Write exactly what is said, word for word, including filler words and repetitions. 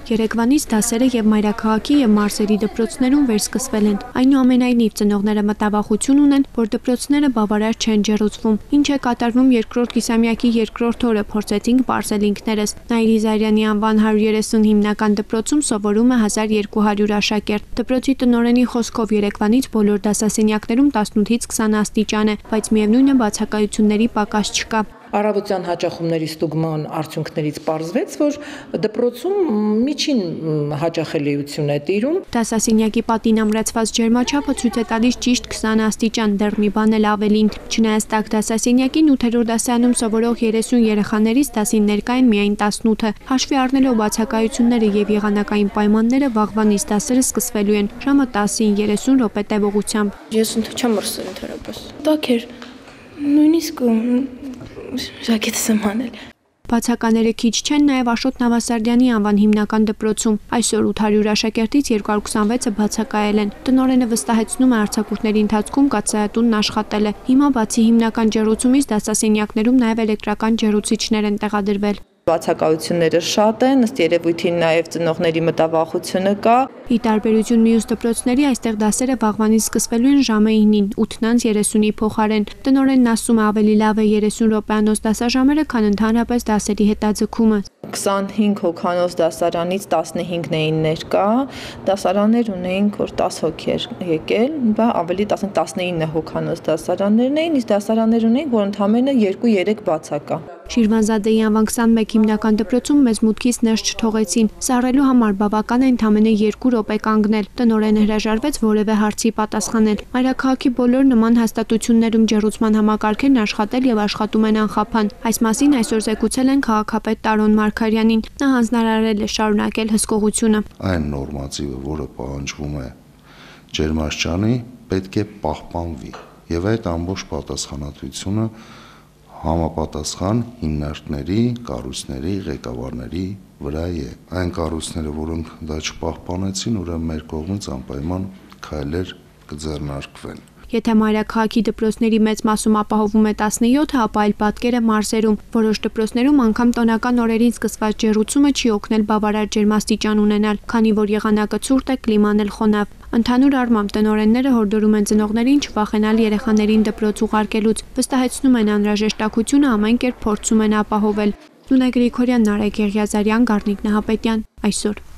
Երեկվանից դասերը եւ մայրաքաղաքի եւ մարզերի դպրոցներում վերսկսվել են։ Այնուամենայնիվ ծնողները մտավախություն ունեն, որ դպրոցները բավարար չեն ջեռուցվում։ Ինչ է կատարվում երկրորդ կիսամյակի երկրորդ օրը փորձեցինք պարզել ինքներս։ Նաիրի Զարյանի անվան հարյուր երեսուն հիմնական դպրոցում սովորում է հազար երկու հարյուր աշակերտ։ Դպրոցի տնօրենի խոսքով երեկվանից բոլոր դասասենյակներում տասնութից քսան աստիճան է, բայց միևնույն է բացակայությունների պակաս չկա։ Առավոտյան հաճախումների ստուգման արդյունքներից պարզվեց, որ դպրոցում միջին հաճախելիություն է տիրում։ Դասասենյակի պատին ամրացված ջերմաչափը ցույց է տալիս ճիշտ քսան աստիճան, դեռ մի բան էլ ավելին։ Չնայած տաք դասասենյակին ութերորդ դասարանում սովորող երեսուն երեխաներից դասին ներկա են միայն տասնութը։ Հաշվի առնելով բացակայությունները եւ եղանակային պայմանները վաղվանից դասերը սկսվելու են ժամը տասին երեսուն րոպե տևողությամբ։ Ես չեմ մրսել ընդհանրապես։ Տաք էր, նույնիսկ ժակետս եմ անել։ Բացակաները քիչ չեն նաև Աշոտ Նավասարդյանի անվան հիմնական դպրոցում։ Այսօր ութ հարյուր աշակերտից երկու հարյուր քսանվեցը բացակայել են։ Տնօրենը վստահեցնում է արձակուրդների ընթացքում կաթսայատունն աշխատել է։ Հիմա բացի հիմնական ջեռուցումից դասասենյակներում նաև էլեկտրական ջեռուցիչներ են տեղադրվել։ Բացակայությունները շատ են, ըստ երևույթին նաև ծնողների մտավախությունը կա։ Ի տարբերություն մյուս դպրոցների, այստեղ դասերը վաղվանից սկսվելու են ժամը իննին, ութ երեսունի փոխարեն։ Տնօրենն ասում է ավելի լավ է երեսուն րոպեանոց դասաժամերը, քան ընդհանրապես դասերի հետաձգումը։ քսանհինգ հոգանոց դասարանից տասնհինգն էին ներկա, դասարաններ ունեինք, որ տասը հոգի էր եկել, բա ավելի տասնինը հոգանոց դասարաններն էին, իսկ դասարաններ ունեինք, որ ընդամենը երկու երեք բացակա։ Շիրվանզադեի անվան քսանմեկ հիմնական դպրոցում մեզ մուտքից ներս չթողեցին։ Սառելու համար բավական է ընդամենը երկու րոպե կանգնել։ Տնօրենը հրաժարվեց որևէ հարցի պատասխանել։ Մայրաքաղաքի բոլոր նման հաստատություններում ջեռուցման համակարգերն աշխատել եւ աշխատում են անխափան։ Այս մասին այսօր զեկուցել են քաղաքապետ Տարոն Մարգարյանին։ Նա հանձնարարել է շարունակել հսկողությունը։ Այն նորմատիվը, որը պահանջվում է ջերմաստիճանի, պետք է պահպանվի եւ այդ ամբողջ պատասխանատվությունը համապատասխան հիմնարկների, կառույցների, ղեկավարների վրա է։ Այն կառույցները, որոնք դա չպահպանեցին, ուրեմն մեր կողմից անպայման քայլեր կձեռնարկվեն։ Եթե մայրաքաղաքի դպրոցների մեծ մասում ապահովում է տասնյոթը, ապա այլ պատկեր է մարզերում։ Որոշ դպրոցներում անգամ տոնական օրերին սկսված ջեռուցումը չի օգնել բավարար ջերմաստիճան ունենալ, քանի որ եղանակը ցուրտ է, կլիման էլ խոնավ։ Ընդհանուր առմամբ տնօրենները հորդորում են ծնողներին չվախենալ երեխաներին դպրոց ուղարկելուց, վստահեցնում են անհրաժեշտակությունը ամեն կերպ փորձում են ապահովել։ Նունե Գրիգորյան, Նարեկ Եղիազարյան, Գառնիկ Նահապետյան, այսօր։